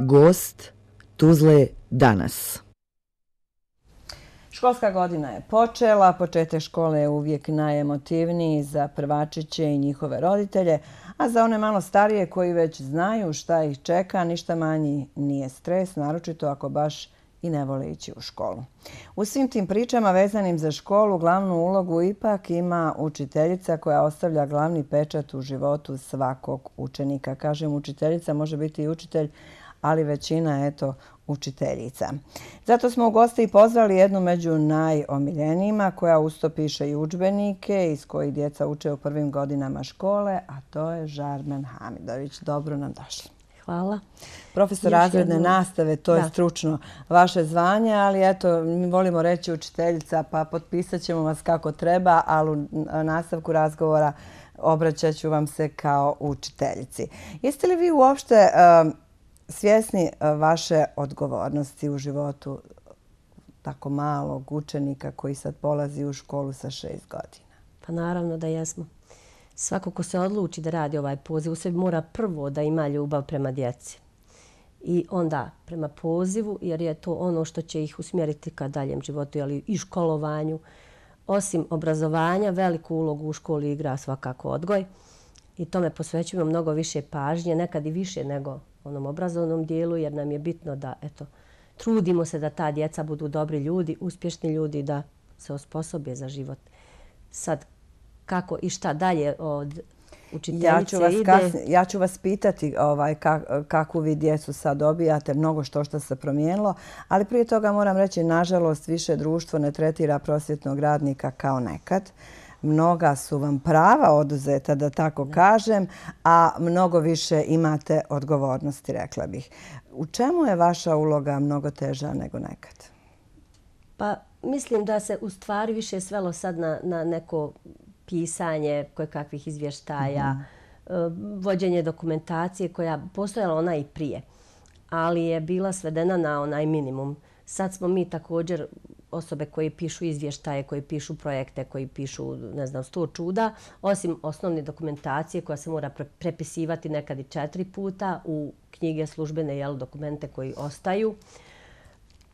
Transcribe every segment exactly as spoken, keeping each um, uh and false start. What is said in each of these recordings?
Gost Tuzle danas. Školska godina je počela, početak škole je uvijek najemotivniji za prvačiće i njihove roditelje, a za one malo starije koji već znaju šta ih čeka, ništa manji nije stres, naročito ako baš i ne vole ići u školu. U svim tim pričama vezanim za školu glavnu ulogu ipak ima učiteljica koja ostavlja glavni pečat u životu svakog učenika. Kažem učiteljica, može biti i učitelj, ali većina je eto učiteljica. Zato smo u goste i pozvali jednu među najomiljenijima koja usto piše i udžbenike iz kojih djeca uče u prvim godinama škole, a to je Žarmen Hamidović. Dobro nam došli. Hvala. Profesor razredne nastave, to je stručno vaše zvanje, ali eto, mi volimo reći učiteljica, pa potpisat ćemo vas kako treba, ali u nastavku razgovora obraćat ću vam se kao učiteljici. Jeste li vi uopšte svjesni vaše odgovornosti u životu tako malog učenika koji sad polazi u školu sa šest godina? Pa naravno da jesmo. Svako ko se odluči da radi ovaj poziv, u sebi mora prvo da ima ljubav prema djeci. I onda prema pozivu, jer je to ono što će ih usmjeriti ka daljem životu, ali i školovanju. Osim obrazovanja, veliku ulogu u školi igra svakako odgoj. I tome posvećujemo mnogo više pažnje, nekad i više nego onom obrazovnom dijelu, jer nam je bitno da eto, trudimo se da ta djeca budu dobri ljudi, uspješni ljudi, da se osposobe za život. Sad, kako i šta dalje od učiteljice ja ću vas ide? Kasnije, ja ću vas pitati ovaj, kak, kakvu vi djecu sad dobijate, mnogo što što se promijenilo, ali prije toga moram reći, nažalost, više društvo ne tretira prosvjetnog radnika kao nekad. Mnoga su vam prava oduzeta, da tako kažem, a mnogo više imate odgovornosti, rekla bih. U čemu je vaša uloga mnogo teža nego nekad? Pa mislim da se u stvari više svelo sad na, na neko pisanje kojekakvih izvještaja, mm-hmm. vođenje dokumentacije koja postojala ona i prije, ali je bila svedena na onaj minimum. Sad smo mi također osobe koji pišu izvještaje, koji pišu projekte, koji pišu, ne znam, sto čuda, osim osnovne dokumentacije koja se mora prepisivati nekad i četiri puta u knjige službene, jel, dokumente koji ostaju.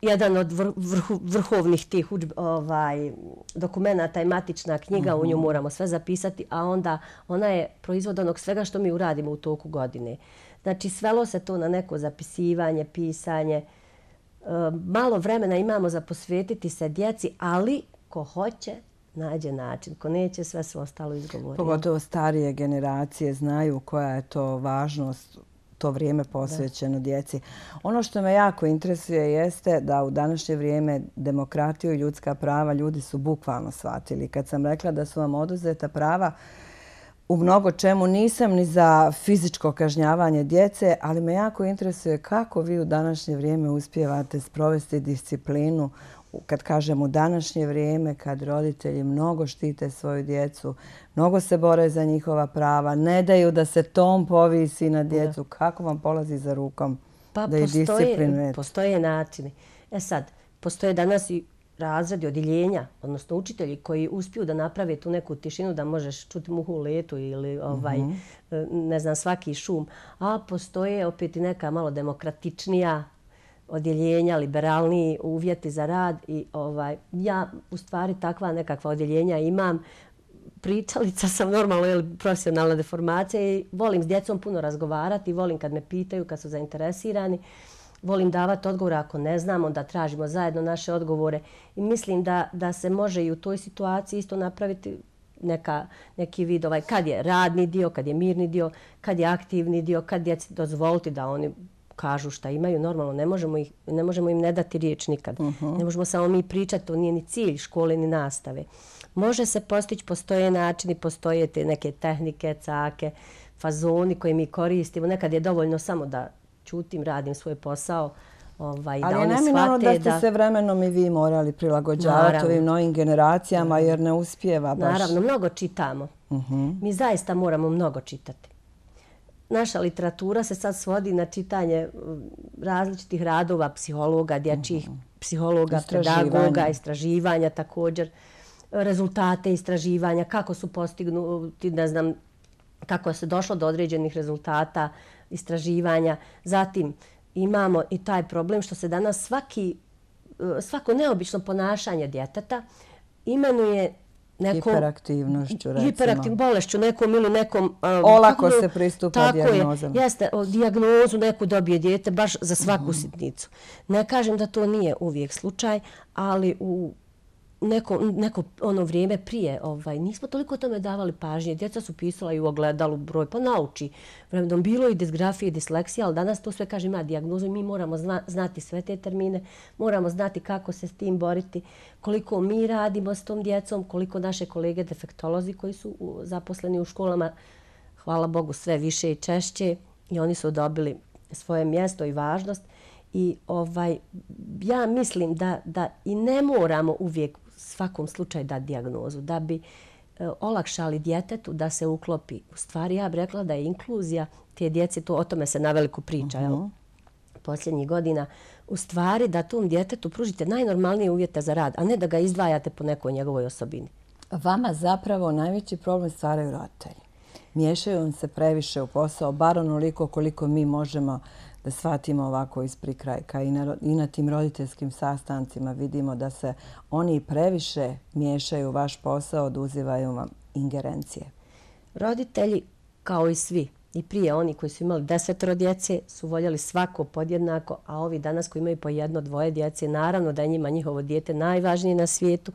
Jedan od vrhu, vrhovnih tih ovaj, dokumenta je matična knjiga, u nju moramo sve zapisati, a onda ona je proizvod onog svega što mi uradimo u toku godine. Znači, svelo se to na neko zapisivanje, pisanje. Malo vremena imamo za posvetiti se djeci, ali ko hoće, nađe način. Ko neće, sve sve ostalo izgovori. Pogotovo starije generacije znaju koja je to važnost, to vrijeme posvećeno djeci. Ono što me jako interesuje jeste da u današnje vrijeme demokratiju i ljudska prava ljudi su bukvalno shvatili. Kad sam rekla da su vam oduzeta prava, u mnogo čemu nisam ni za fizičko kažnjavanje djece, ali me jako interesuje kako vi u današnje vrijeme uspijevate sprovesti disciplinu. Kad kažem u današnje vrijeme, kad roditelji mnogo štite svoju djecu, mnogo se bore za njihova prava, ne daju da se tom povisi na djecu. Kako vam polazi za rukom pa da ih disciplinujete? Postoje načini. E sad, postoje danas i razredi, odjeljenja, odnosno učitelji koji uspiju da naprave tu neku tišinu da možeš čuti muhu u letu ili ovaj, mm-hmm. ne znam, svaki šum. A postoje opet i neka malo demokratičnija odjeljenja, liberalniji uvjeti za rad i ovaj, ja u stvari takva nekakva odjeljenja imam. Pričalica sam normalno ili profesionalna deformacija i volim s djecom puno razgovarati, volim kad me pitaju, kad su zainteresirani. Volim davati odgovore ako ne znam, onda tražimo zajedno naše odgovore. I mislim da, da se može i u toj situaciji isto napraviti neka, neki vid, ovaj, kad je radni dio, kad je mirni dio, kad je aktivni dio, kad djeci dozvoliti da oni kažu šta imaju. Normalno, ne možemo, ih, ne možemo im ne dati riječ nikad. Uh-huh. Ne možemo samo mi pričati, to nije ni cilj škole ni nastave. Može se postići, postoje načini, postoje te neke tehnike, cake, fazoni koje mi koristimo. Nekad je dovoljno samo da čutim, radim svoj posao, ovaj, da oni shvate. Ali je neminovno da ste se vremenom i vi morali prilagođavati naravno. Ovim novim generacijama jer ne uspijeva baš. Naravno, mnogo čitamo. Uh-huh. Mi zaista moramo mnogo čitati. Naša literatura se sad svodi na čitanje različitih radova psihologa, dječjih uh-huh. psihologa, pedagoga, istraživanja također, rezultate istraživanja, kako su postignuti, ne znam, kako se došlo do određenih rezultata istraživanja. Zatim, imamo i taj problem što se danas svaki, svako neobično ponašanje djeteta imenuje nekom... Hiperaktivnošću, recimo. Hiperaktivnom bolešću nekom ili nekom... Olako se pristupa dijagnozama. Tako je, jeste, dijagnozu neku dobije dijete baš za svaku sitnicu. Ne kažem da to nije uvijek slučaj, ali u neko, neko ono vrijeme prije ovaj, nismo toliko tome davali pažnje. Djeca su pisala i u ogledalu broj, pa nauči. Vremenom bilo i disgrafije i disleksija, ali danas to sve kaže ima dijagnozu i mi moramo zna, znati sve te termine, moramo znati kako se s tim boriti, koliko mi radimo s tom djecom, koliko naše kolege defektolozi koji su u, zaposleni u školama, hvala Bogu, sve više i češće i oni su dobili svoje mjesto i važnost. I ovaj, ja mislim da, da i ne moramo uvijek svakom slučaju dati dijagnozu, da bi e, olakšali djetetu da se uklopi. U stvari, ja bih rekla da je inkluzija te djece, to o tome se naveliko priča, uh-huh. jel? Posljednjih godina, u stvari da tom djetetu pružite najnormalnije uvjete za rad, a ne da ga izdvajate po nekoj njegovoj osobini. Vama zapravo najveći problem stvaraju roditelji. Miješaju vam se previše u posao, bar onoliko koliko mi možemo da shvatimo ovako iz prikrajka. I na, I na tim roditeljskim sastancima vidimo da se oni previše miješaju u vaš posao, oduzivaju vam ingerencije. Roditelji, kao i svi, i prije oni koji su imali desetoro djece, su voljeli svako podjednako, a ovi danas koji imaju po jedno, dvoje djece, naravno da je njima njihovo dijete najvažnije na svijetu.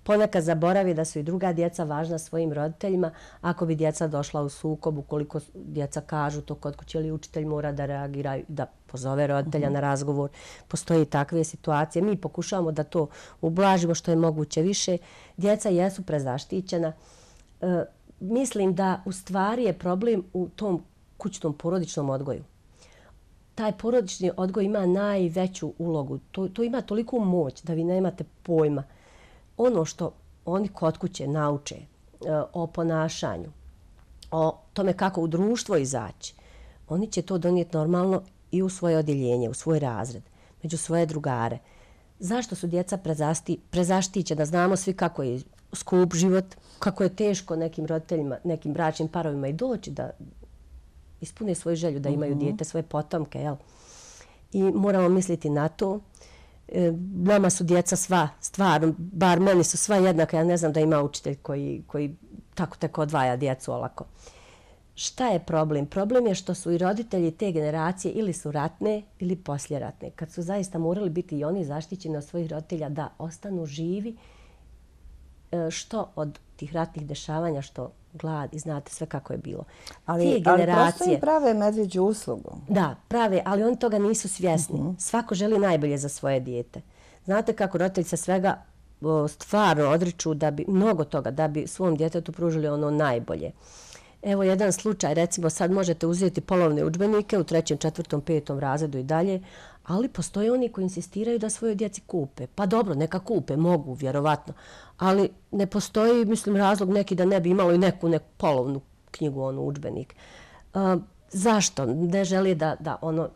Ponekad zaboravi da su i druga djeca važna svojim roditeljima. Ako bi djeca došla u sukob, ukoliko djeca kažu to kod kuće ili učitelj mora da reagira, da pozove roditelja na razgovor. Postoje i takve situacije. Mi pokušavamo da to ublažimo što je moguće više. Djeca jesu prezaštićena. E, mislim da u stvari je problem u tom kućnom porodičnom odgoju. Taj porodični odgoj ima najveću ulogu. To, to ima toliku moć da vi nemate pojma. Ono što oni kod kuće nauče e, o ponašanju, o tome kako u društvo izaći, oni će to donijeti normalno i u svoje odjeljenje, u svoj razred, među svoje drugare. Zašto su djeca prezasti, prezaštićena? Znamo svi kako je skup život, kako je teško nekim roditeljima, nekim bračnim parovima i doći da ispune svoju želju, da imaju dijete, svoje potomke. Jel? I moramo misliti na to. Nama su djeca sva, stvarno, bar meni su sva jednaka, ja ne znam da ima učitelj koji, koji tako tako odvaja djecu olako. Šta je problem? Problem je što su i roditelji te generacije ili su ratne ili posljeratne, kad su zaista morali biti i oni zaštićeni od svojih roditelja da ostanu živi, što od tih ratnih dešavanja, što glad i znate sve kako je bilo. Ali, te generacije, ali prosto im prave medvjeđu uslugu. Da, prave, ali oni toga nisu svjesni. Uh-huh. Svako želi najbolje za svoje dijete. Znate kako roditelji se svega o, stvarno odriču da bi, mnogo toga, da bi svom djetetu pružili ono najbolje. Evo jedan slučaj, recimo sad možete uzeti polovne udžbenike u trećem, četvrtom, petom razredu i dalje, ali postoje oni koji insistiraju da svoje djeci kupe. Pa dobro, neka kupe, mogu, vjerovatno, ali ne postoji, mislim, razlog neki da ne bi imalo i neku, neku polovnu knjigu, onu udžbenik. Uh, zašto? Ne želi da, da ono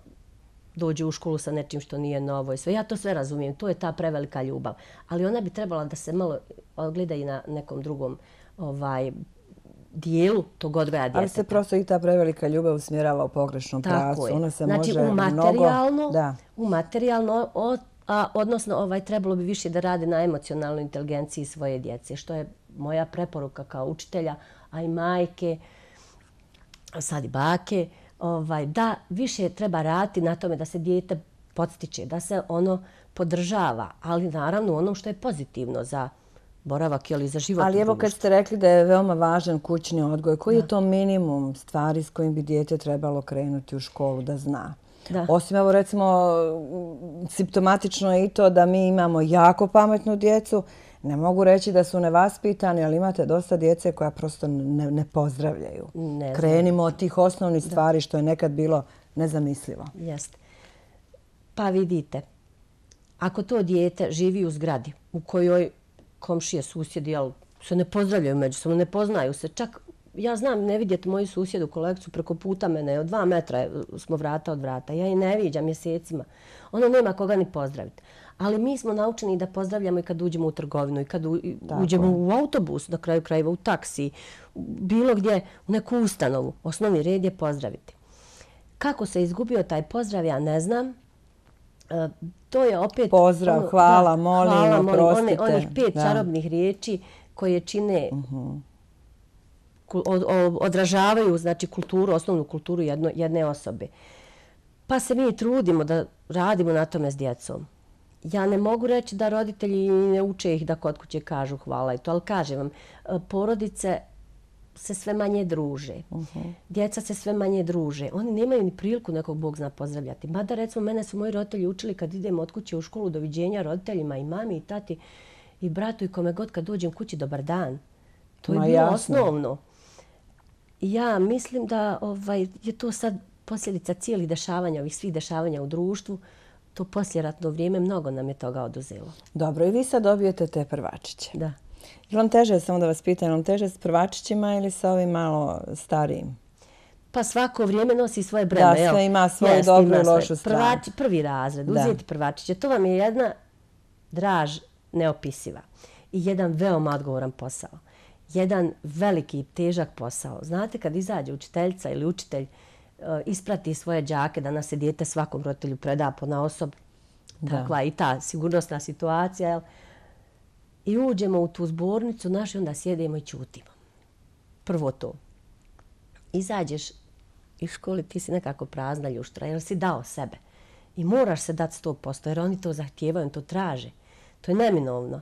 dođe u školu sa nečim što nije novo i sve. Ja to sve razumijem, to je ta prevelika ljubav. Ali ona bi trebala da se malo ogleda i na nekom drugom ovaj, dijelu tog odgoja djeteta. Ali se prosto i ta prevelika ljubav usmjerava u pogrešnom pravcu. Ona se znači, može u materijalno, mnogo... Da. U materijalno, o, a, odnosno ovaj, trebalo bi više da rade na emocionalnoj inteligenciji svoje djece, što je moja preporuka kao učitelja, a i majke, sad i bake, ovaj, da više treba raditi na tome da se dijete podstiče, da se ono podržava, ali naravno ono što je pozitivno za boravak ili za život. Ali evo kad ste rekli da je veoma važan kućni odgoj, koji da. je to minimum stvari s kojim bi dijete trebalo krenuti u školu da zna? Da. Osim, evo recimo, simptomatično je i to da mi imamo jako pametnu djecu. Ne mogu reći da su nevaspitani, ali imate dosta djece koja prosto ne, ne pozdravljaju. Ne Krenimo od tih osnovnih da. stvari što je nekad bilo nezamislivo. Jeste. Pa vidite, ako to dijete živi u zgradi u kojoj komšije, susjedi, jel, se ne pozdravljaju međusobno, ne poznaju se. Čak, ja znam, ne vidjeti moju susjedu, kolegicu preko puta mene, od dva metra smo vrata od vrata. Ja je ne viđam mjesecima. Ona nema koga ni pozdraviti. Ali mi smo naučeni da pozdravljamo i kad uđemo u trgovinu, i kad u, uđemo u autobus, na kraju krajeva u taksi, bilo gdje, u neku ustanovu. Osnovni red je pozdraviti. Kako se izgubio taj pozdrav, ja ne znam. E, to je opet... Pozdrav, ono, hvala, da, molim, hvala, molim, oprostite. One, onih pet da. čarobnih riječi koje čine, uh-huh. od, od, odražavaju znači, kulturu, osnovnu kulturu jedno, jedne osobe. Pa se mi trudimo da radimo na tome s djecom. Ja ne mogu reći da roditelji ne uče ih da kod kuće kažu hvala i to, ali kažem vam, porodice se sve manje druže. Uh-huh. Djeca se sve manje druže. Oni nemaju ni priliku nekog Bog zna pozdravljati. Mada recimo mene su moji roditelji učili kad idem od kuće u školu doviđenja roditeljima i mami i tati i bratu i kome god kad dođem kući dobar dan. To je Ma, bilo jasno. Osnovno. Ja mislim da ovaj, je to sad posljedica cijelih dešavanja, ovih svih dešavanja u društvu. To posljeratno vrijeme mnogo nam je toga oduzelo. Dobro, i vi sad dobijete te prvačiće. Da. Je vam teže, samo da vas pitam, je vam teže s prvačićima ili sa ovim malo starijim? Pa svako vrijeme nosi svoje breme. Da, sve ima svoju dobru i lošu stranu. Prvači, prvi razred, uzeti prvačiće, to vam je jedna draž neopisiva i jedan veoma odgovoran posao. Jedan veliki, težak posao. Znate, kad izađe učiteljica ili učitelj isprati svoje đake, danas se dijete svakom roditelju preda ponaosob, takva i ta sigurnosna situacija, jel? I uđemo u tu zbornicu našu i onda sjedemo i ćutimo. Prvo to. Izađeš iz škole, ti si nekako prazna ljuštra, jer si dao sebe. I moraš se dati sto posto, jer oni to zahtijevaju, to traže. To je neminovno.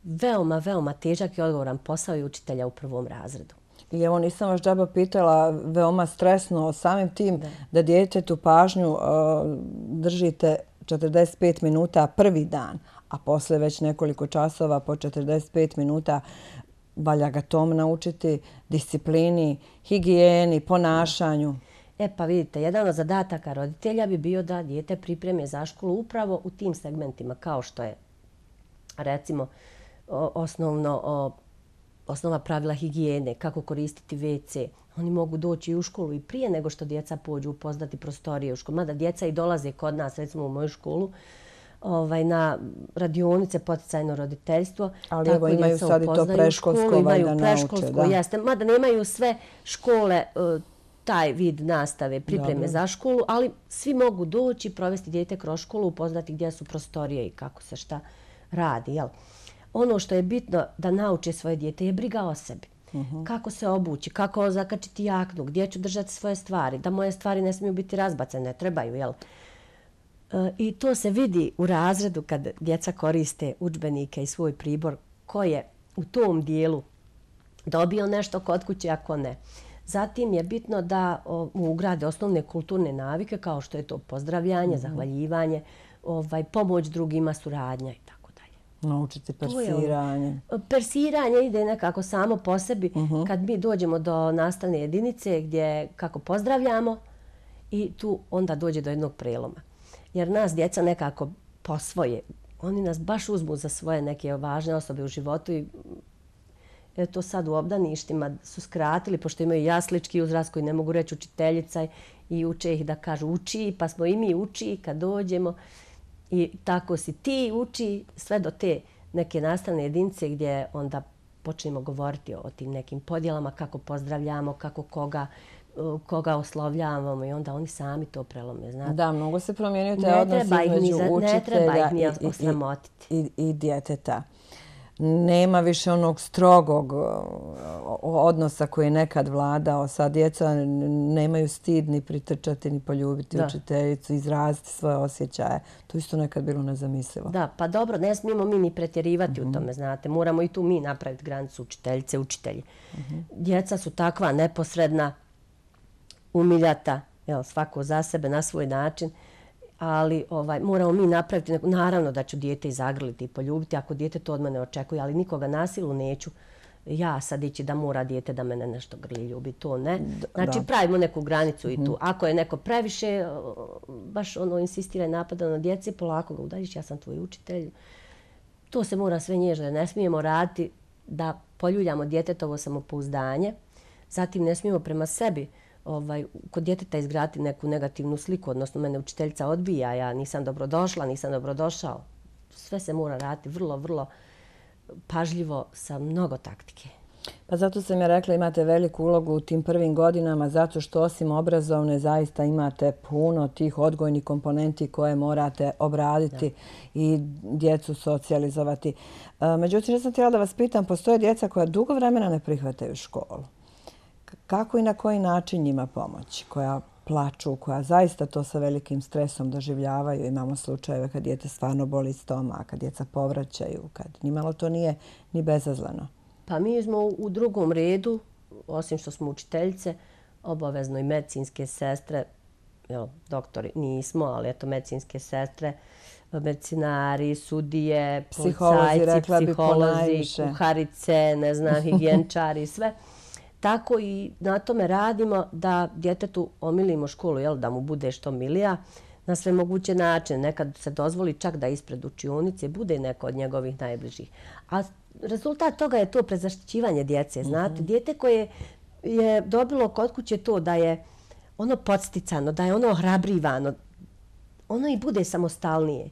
Veoma, veoma težak i odgovoran posao i učitelja u prvom razredu. I evo nisam vas džaba pitala, veoma stresno samim tim da, da djetetu pažnju uh, držite četrdeset pet minuta prvi dan, a posle već nekoliko časova po četrdeset pet minuta valja ga tom naučiti, disciplini, higijeni, ponašanju. E pa vidite, jedan od zadataka roditelja bi bio da dijete pripreme za školu upravo u tim segmentima, kao što je recimo osnovno o, osnova pravila higijene, kako koristiti ve ce. Oni mogu doći u školu i prije nego što djeca pođu upoznati prostorije u školu. Mada djeca i dolaze kod nas, recimo u moju školu, ovaj, na radionice poticajno roditeljstvo. Ali evo imaju sad i to preškolsko, imaju preškolsko, jeste. Mada nemaju sve škole taj vid nastave, pripreme Dobre. za školu, ali svi mogu doći, provesti dijete kroz školu, upoznati gdje su prostorije i kako se šta radi. Jel? Ono što je bitno da nauče svoje dijete je briga o sebi. Uh-huh. Kako se obući, kako zakačiti jaknu, gdje ću držati svoje stvari, da moje stvari ne smiju biti razbacane, ne trebaju, jel? E, I to se vidi u razredu kad djeca koriste udžbenike i svoj pribor, ko je u tom dijelu dobio nešto kod kuće, ako ne. Zatim je bitno da o, mu ugrade osnovne kulturne navike, kao što je to pozdravljanje, uh-huh. zahvaljivanje, ovaj, pomoć drugima, suradnja i tako. Naučiti persiranje. Persiranje ide nekako samo po sebi uh-huh. kad mi dođemo do nastavne jedinice gdje kako pozdravljamo i tu onda dođe do jednog preloma. Jer nas djeca nekako posvoje. Oni nas baš uzmu za svoje neke važne osobe u životu i eto sad u obdaništima su skratili, pošto imaju jaslički uzrast koji ne mogu reći učiteljica i uče ih da kažu uči, pa smo i mi uči kad dođemo. I tako si ti uči sve do te neke nastavne jedinice gdje onda počnemo govoriti o tim nekim podjelama, kako pozdravljamo, kako koga, koga oslovljavamo i onda oni sami to prelome. Znate? Da, mnogo se promijenio taj odnos između učitelja ne treba ih ni osramotiti. I, i, i djeteta. Nema više onog strogog odnosa koji je nekad vladao. Sad djeca nemaju stid ni pritrčati, ni poljubiti da. učiteljicu, izraziti svoje osjećaje. To isto nekad bilo nezamislivo. Da, pa dobro, ne smijemo mi ni pretjerivati mm-hmm. u tome, znate. Moramo i tu mi napraviti granicu učiteljice, učitelji. Mm-hmm. Djeca su takva neposredna, umiljata, jel, svako za sebe, na svoj način. Ali ovaj, moramo mi napraviti, neko, naravno da ću dijete i zagrliti i poljubiti ako dijete to od mene očekuje, ali nikoga nasilu neću ja sad ići da mora dijete da mene nešto grli, ljubi, to ne. Znači da. pravimo neku granicu i tu. Ako je neko previše, baš ono insistira i napada na djeci, polako ga udaljiš, ja sam tvoj učitelj. To se mora sve nježno, ne smijemo raditi da poljuljamo djetetovo samopouzdanje, zatim ne smijemo prema sebi Ovaj, kod djeteta izgraditi neku negativnu sliku, odnosno mene učiteljica odbija, ja nisam dobrodošla, nisam dobrodošao. Sve se mora raditi vrlo, vrlo pažljivo sa mnogo taktike. Pa zato sam ja rekla imate veliku ulogu u tim prvim godinama zato što osim obrazovne zaista imate puno tih odgojnih komponenti koje morate obraditi i djecu socijalizovati. Međutim, ja sam htjela da vas pitam, postoje djeca koja dugo vremena ne prihvataju školu. Kako i na koji način njima pomoći? Koja plaču, koja zaista to sa velikim stresom doživljavaju. Imamo slučajeve kad djete stvarno boli stomak, kad djeca povraćaju, kad nimalo to nije ni bezazleno. Pa mi smo u drugom redu, osim što smo učiteljice, obavezno i medicinske sestre, jel, doktori nismo, ali eto medicinske sestre, medicinari, sudije, policajci, psiholozi, kuharice, ne znam, higijenčari, sve. Tako i na tome radimo da djetetu omilimo školu, jel, da mu bude što milija na sve moguće načine. Nekad se dozvoli čak da ispred učionice bude neko od njegovih najbližih. A rezultat toga je to prezaštićivanje djece. Znate, dijete koje je dobilo kod kuće to da je ono podsticano, da je ono ohrabrivano, ono i bude samostalnije.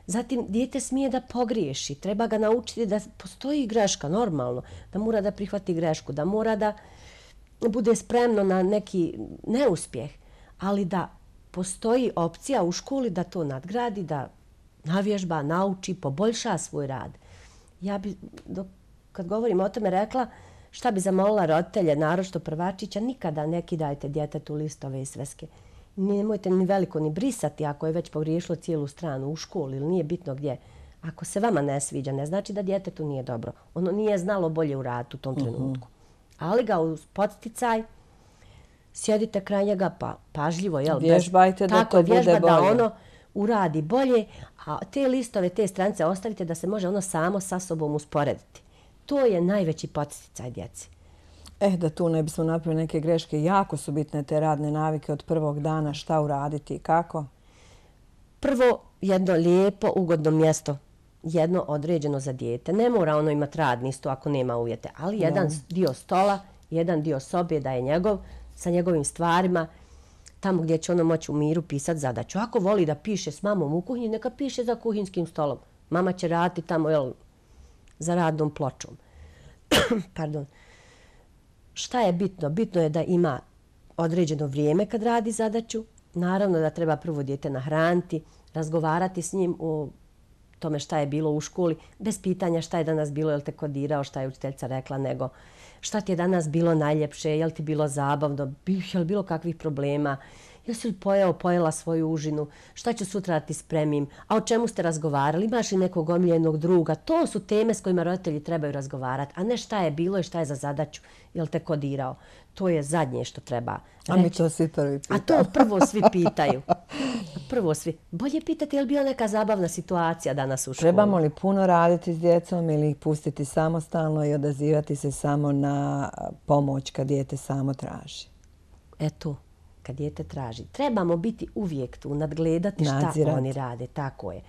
Zatim, dijete smije da pogriješi. Treba ga naučiti da postoji greška, normalno. Da mora da prihvati grešku, da mora da bude spremno na neki neuspjeh. Ali da postoji opcija u školi da to nadgradi, da navježba, nauči, poboljša svoj rad. Ja bi, dok, kad govorim o tome, rekla šta bi zamolila roditelje, naročito prvačića, nikada ne kidajte djetetu listove i sveske. Nemojte ni veliko ni brisati ako je već pogriješilo cijelu stranu u školi ili nije bitno gdje. Ako se vama ne sviđa, ne znači da djetetu nije dobro. Ono nije znalo bolje u radu u tom trenutku. Ali ga uz podsticaj, sjedite kraj njega pa pažljivo, jel? Vježbajte da to bude bolje. Da ono uradi bolje, a te listove, te stranice ostavite da se može ono samo sa sobom usporediti. To je najveći podsticaj djeci. Eh, da tu ne bismo napravili neke greške, jako su bitne te radne navike od prvog dana, šta uraditi i kako? Prvo, jedno lijepo, ugodno mjesto, jedno određeno za dijete. Ne mora ono imati radni sto ako nema uvjete, ali jedan dio stola, jedan dio sobe da je njegov, sa njegovim stvarima, tamo gdje će ono moći u miru pisati zadaću. Ako voli da piše s mamom u kuhinji, neka piše za kuhinskim stolom. Mama će raditi tamo, jel, za radnom pločom. Pardon. Šta je bitno? Bitno je da ima određeno vrijeme kad radi zadaću. Naravno da treba prvo dijete nahraniti, razgovarati s njim o tome šta je bilo u školi, bez pitanja šta je danas bilo, jel te kodirao, šta je učiteljica rekla, nego šta ti je danas bilo najljepše, jel ti bilo zabavno, jel bilo kakvih problema, jesi li pojeo, pojela svoju užinu, šta ću sutra da ti spremim, a o čemu ste razgovarali, imaš li nekog omiljenog druga. To su teme s kojima roditelji trebaju razgovarati, a ne šta je bilo i šta je za zadaću, jel te kodirao. To je zadnje što treba reći. A mi to svi prvi pitamo. A to prvo svi pitaju. Prvo svi. Bolje pitati je li bila neka zabavna situacija danas u školi. Trebamo li puno raditi s djecom ili ih pustiti samostalno i odazivati se samo na pomoć kad dijete samo traži? Eto, kad dijete traži. Trebamo biti uvijek tu, nadgledati šta Nadzirati. Oni rade. Tako je.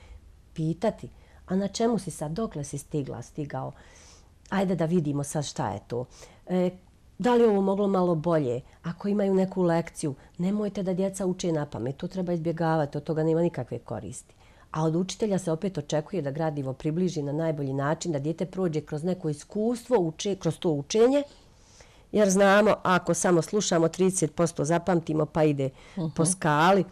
Pitati. A na čemu si sad? Dokle si stigla, stigao? Ajde da vidimo sad šta je to. E, Da li ovo moglo malo bolje? Ako imaju neku lekciju, nemojte da djeca uče na pamet. To treba izbjegavati, od toga nema nikakve koristi. A od učitelja se opet očekuje da gradivo približi na najbolji način, da dijete prođe kroz neko iskustvo, uče, kroz to učenje. Jer znamo, ako samo slušamo trideset posto zapamtimo pa ide uh-huh. po skali,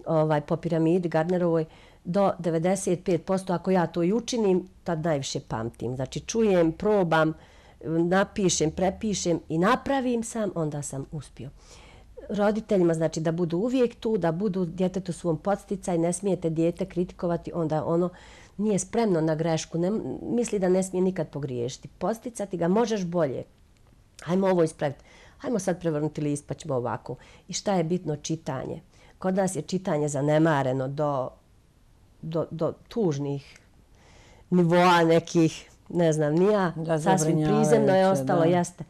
ovaj, po piramidi Gardnerovoj, do devedeset pet posto ako ja to i učinim, tad najviše pamtim. Znači čujem, probam, napišem, prepišem i napravim sam, onda sam uspio. Roditeljima znači da budu uvijek tu, da budu djetetu svom podsticaj, ne smijete dijete kritikovati, onda ono nije spremno na grešku, ne, misli da ne smije nikad pogriješiti. Podsticati ga, možeš bolje. Hajmo ovo ispraviti. Hajmo sad prevrnuti list pa ćemo ovako. I šta je bitno? Čitanje. Kod nas je čitanje zanemareno do, do, do tužnih nivoa nekih, ne znam, nija, sasvim prizemno je ostalo, da. Jeste.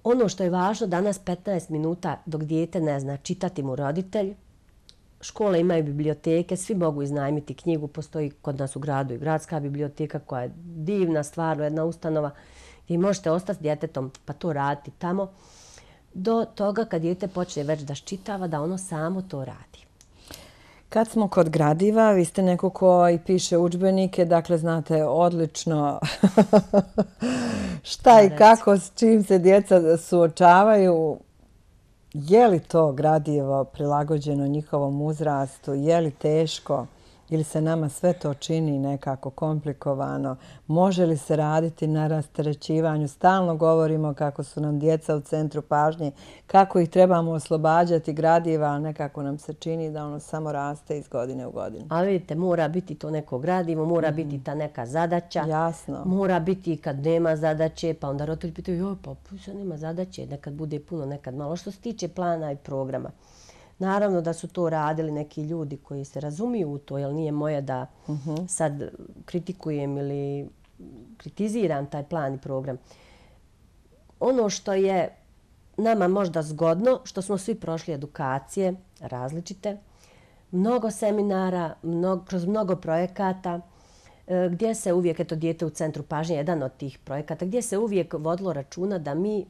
Ono što je važno, danas petnaest minuta dok dijete ne zna čitati mu roditelj, škole imaju biblioteke, svi mogu iznajmiti knjigu, postoji kod nas u gradu i gradska biblioteka koja je divna stvar, jedna ustanova gdje možete ostati s djetetom pa to raditi tamo, do toga kad dijete počne već da ščitava, da ono samo to radi. Kad smo kod gradiva, vi ste neko ko i piše udžbenike, dakle znate odlično šta i kako, s čim se djeca suočavaju. Je li to gradivo prilagođeno njihovom uzrastu? Je li teško? Ili se nama sve to čini nekako komplikovano? Može li se raditi na rasterećivanju? Stalno govorimo kako su nam djeca u centru pažnje, kako ih trebamo oslobađati gradiva, a nekako nam se čini da ono samo raste iz godine u godinu. Ali vidite, mora biti to neko gradivo, mora mm. biti ta neka zadaća. Jasno. Mora biti kad nema zadaće, pa onda roditelji pitaju, joj, pa sad nema zadaće, nekad bude puno, nekad malo. Što se tiče plana i programa. Naravno da su to radili neki ljudi koji se razumiju u to, jer nije moje da uh-huh. sad kritikujem ili kritiziram taj plan i program. Ono što je nama možda zgodno, što smo svi prošli edukacije različite, mnogo seminara, mnogo, kroz mnogo projekata, gdje se uvijek, eto dijete u centru pažnje, jedan od tih projekata, gdje se uvijek vodilo računa da mi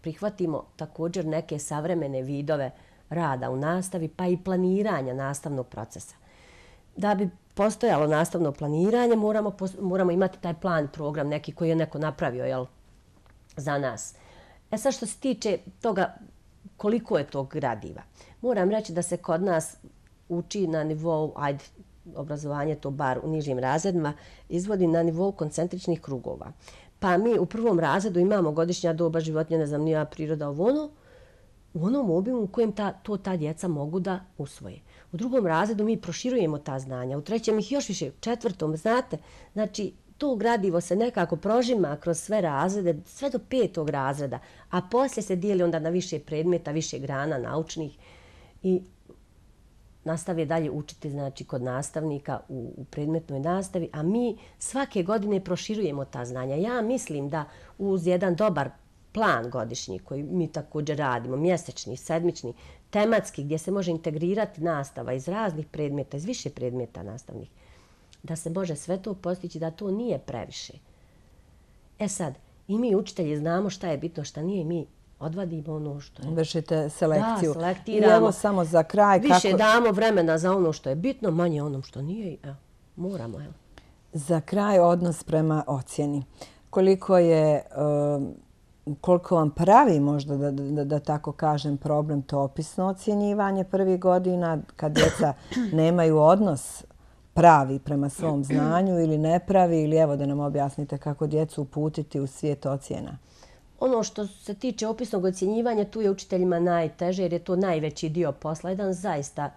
prihvatimo također neke savremene vidove rada u nastavi, pa i planiranja nastavnog procesa. Da bi postojalo nastavno planiranje, moramo, moramo imati taj plan, program neki koji je neko napravio jel, za nas. E sad što se tiče toga koliko je tog gradiva, moram reći da se kod nas uči na nivou, ajde, obrazovanje to bar u nižim razredima, izvodi na nivou koncentričnih krugova. Pa mi u prvom razredu imamo godišnja doba životinja, ne znam, nija priroda ovo ono, u onom obimu u kojem ta, to ta djeca mogu da usvoje. U drugom razredu mi proširujemo ta znanja, u trećem ih još više, u četvrtom, znate, znači to gradivo se nekako prožima kroz sve razrede, sve do petog razreda, a poslije se dijeli onda na više predmeta, više grana naučnih i nastavi dalje učiti znači, kod nastavnika u, u predmetnoj nastavi, a mi svake godine proširujemo ta znanja. Ja mislim da uz jedan dobar plan godišnji koji mi također radimo, mjesečni, sedmični, tematski, gdje se može integrirati nastava iz raznih predmeta, iz više predmeta nastavnih, da se može sve to postići, da to nije previše. E sad, i mi učitelji znamo šta je bitno, šta nije, mi odvadimo ono što je. Vršite selekciju. Da, selektiramo. I evo samo za kraj. Više kako... damo vremena za ono što je bitno, manje onom što nije. Evo, moramo, evo. Za kraj odnos prema ocjeni. Koliko je... Um, koliko vam pravi možda, da, da, da tako kažem, problem to opisno ocjenjivanje prvih godina, kad djeca nemaju odnos pravi prema svom znanju ili ne pravi, ili evo da nam objasnite kako djecu uputiti u svijet ocjena. Ono što se tiče opisnog ocjenjivanja, tu je učiteljima najteže jer je to najveći dio posla. Jedan zaista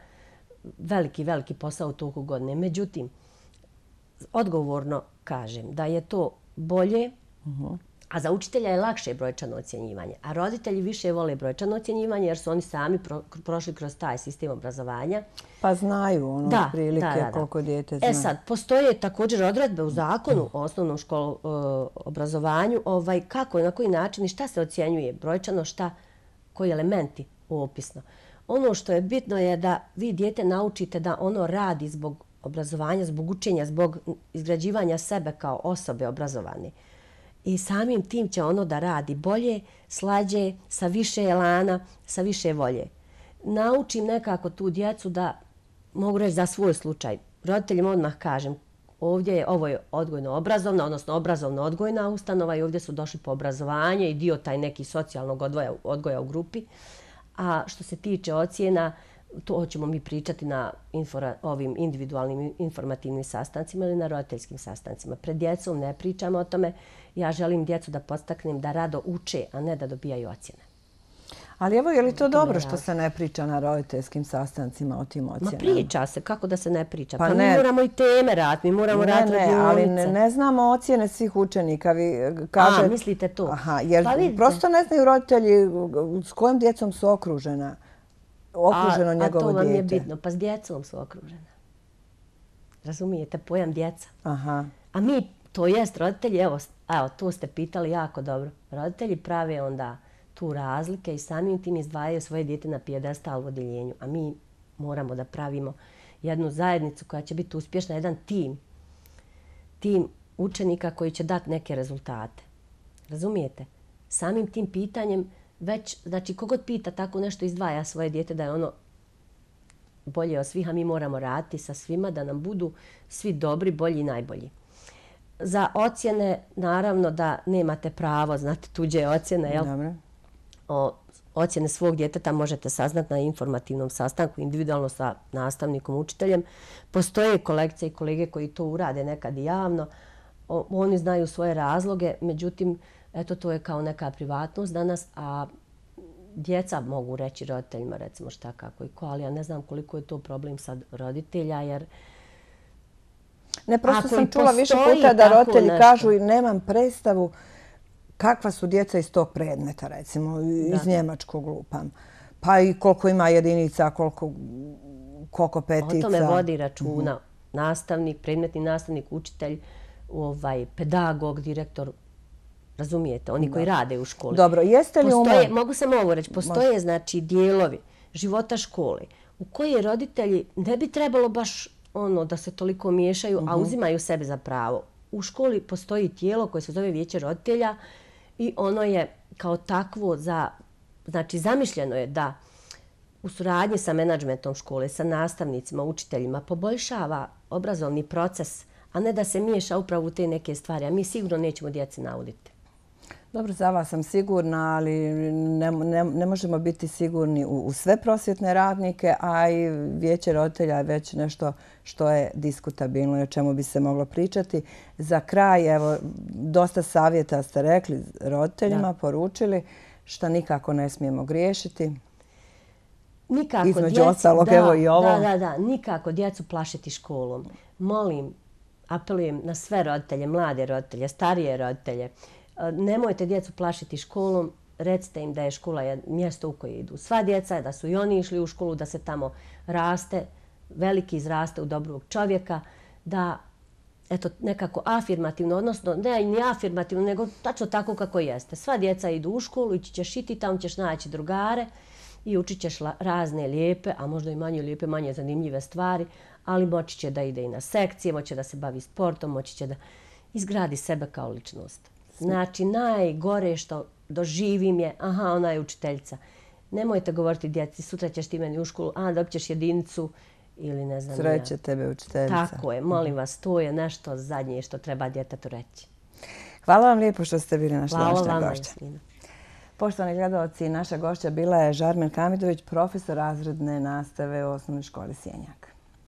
veliki, veliki posao u toku godine. Međutim, odgovorno kažem da je to bolje, uh-huh. a za učitelja je lakše brojčano ocjenjivanje. A roditelji više vole brojčano ocjenjivanje jer su oni sami pro, prošli kroz taj sistem obrazovanja. Pa znaju ono da, prilike da, da, da. koliko dijete zna. E sad, postoje također odredbe u zakonu o osnovnom školu e, obrazovanju ovaj, kako, na koji način i šta se ocjenjuje brojčano, šta, koji elementi opisno. Ono što je bitno je da vi dijete naučite da ono radi zbog obrazovanja, zbog učenja, zbog izgrađivanja sebe kao osobe obrazovane. I samim tim će ono da radi bolje, slađe, sa više elana, sa više volje. Naučim nekako tu djecu da, mogu reći za svoj slučaj, roditeljima odmah kažem, ovdje je, ovo je odgojno-obrazovna, odnosno obrazovno-odgojna ustanova i ovdje su došli po obrazovanje i dio taj neki socijalnog odgoja, odgoja u grupi. A što se tiče ocjena, to ćemo mi pričati na infora, ovim individualnim informativnim sastancima ili na roditeljskim sastancima. Pred djecom ne pričamo o tome. Ja želim djecu da podstaknem da rado uče, a ne da dobijaju ocjene. Ali evo, je li to dobro što se ne priča na roditeljskim sastancima o tim ocjenama? Ma priča se, kako da se ne priča? Pa, pa ne, mi moramo i teme raditi, mi moramo raditi radionice. Ne, ali ne, ne znamo ocjene svih učenika. Vi kaže... A, mislite to? Aha, jer pa prosto ne znaju roditelji s kojom djecom su okružena. Okruženo a, njegovo dijete. A to vam dijete. Je bitno, pa s djecom su okružena. Razumijete, pojam djeca. Aha. A mi, to jest roditelji, evo, evo, to ste pitali jako dobro. Roditelji prave onda tu razlike i samim tim izdvajaju svoje dijete na pijedestal u odjeljenju. A mi moramo da pravimo jednu zajednicu koja će biti uspješna, jedan tim. Tim učenika koji će dati neke rezultate. Razumijete? Samim tim pitanjem već, znači, kogod pita tako nešto izdvaja svoje dijete da je ono bolje od svih, a mi moramo raditi sa svima da nam budu svi dobri, bolji i najbolji. Za ocjene, naravno da nemate pravo znati tuđe ocjene, jel? Dobro. O ocjene svog djeteta možete saznati na informativnom sastanku, individualno sa nastavnikom, učiteljem. Postoje kolegice i kolege koji to urade nekad i javno. O, oni znaju svoje razloge, međutim, eto, to je kao neka privatnost danas, a djeca mogu reći roditeljima, recimo šta, kako i ko, ali ja ne znam koliko je to problem sad roditelja, jer ne, prosto ako sam i čula više postoji puta da tako roditelji nešto. kažu i nemam predstavu kakva su djeca iz tog predmeta, recimo, iz Da. njemačkog lupam. Pa i koliko ima jedinica, koliko, koliko petica. O tome vodi računa nastavnik, predmetni nastavnik, učitelj, ovaj, pedagog, direktor, razumijete, oni koji rade u školi. Dobro, jeste li Postoje, umo... mogu samo ovo reći, postoje znači dijelovi života škole u koje roditelji ne bi trebalo baš ono da se toliko miješaju, a uzimaju sebe za pravo. U školi postoji tijelo koje se zove vijeće roditelja i ono je kao takvo za, znači zamišljeno je da u suradnji sa menadžmentom škole, sa nastavnicima, učiteljima poboljšava obrazovni proces, a ne da se miješa upravo u te neke stvari. A mi sigurno nećemo djeci nauditi. Dobro, za vas sam sigurna, ali ne, ne, ne možemo biti sigurni u, u sve prosvjetne radnike, a i vijeće roditelja je već nešto što je diskutabilno i o čemu bi se moglo pričati. Za kraj, evo, dosta savjeta ste rekli roditeljima, da. Poručili, što nikako ne smijemo griješiti. Nikako Između djecu, ostalog, da, evo i ovo. Da, da, da, nikako djecu plašiti školom. Molim, apelujem na sve roditelje, mlade roditelje, starije roditelje, nemojte djecu plašiti školom, recite im da je škola mjesto u koje idu sva djeca, da su i oni išli u školu, da se tamo raste, veliki izraste u dobrog čovjeka, da eto, nekako afirmativno, odnosno ne ni afirmativno, nego tačno tako kako jeste. Sva djeca idu u školu, ići ćeš i ti, tamo ćeš naći drugare i učit ćeš razne lijepe, a možda i manje lijepe, manje zanimljive stvari, ali moći će da ide i na sekcije, moći će da se bavi sportom, moći će da izgradi sebe kao ličnost. Znači, najgore što doživim je, aha, ona je učiteljica. Nemojte govoriti djeci, sutra ćeš ti meni u školu, a dobit ćeš jedinicu ili ne znam. Sreće ja. tebe učiteljica. Tako je, molim vas, to je nešto zadnje što treba djetetu reći. Hvala vam lijepo što ste bili naša današnja gošća. Hvala vama, Jasmina. Poštovani gledalci, naša gošća bila je Žarmen Hamidović, profesor razredne nastave u osnovnoj školi Sjenjak.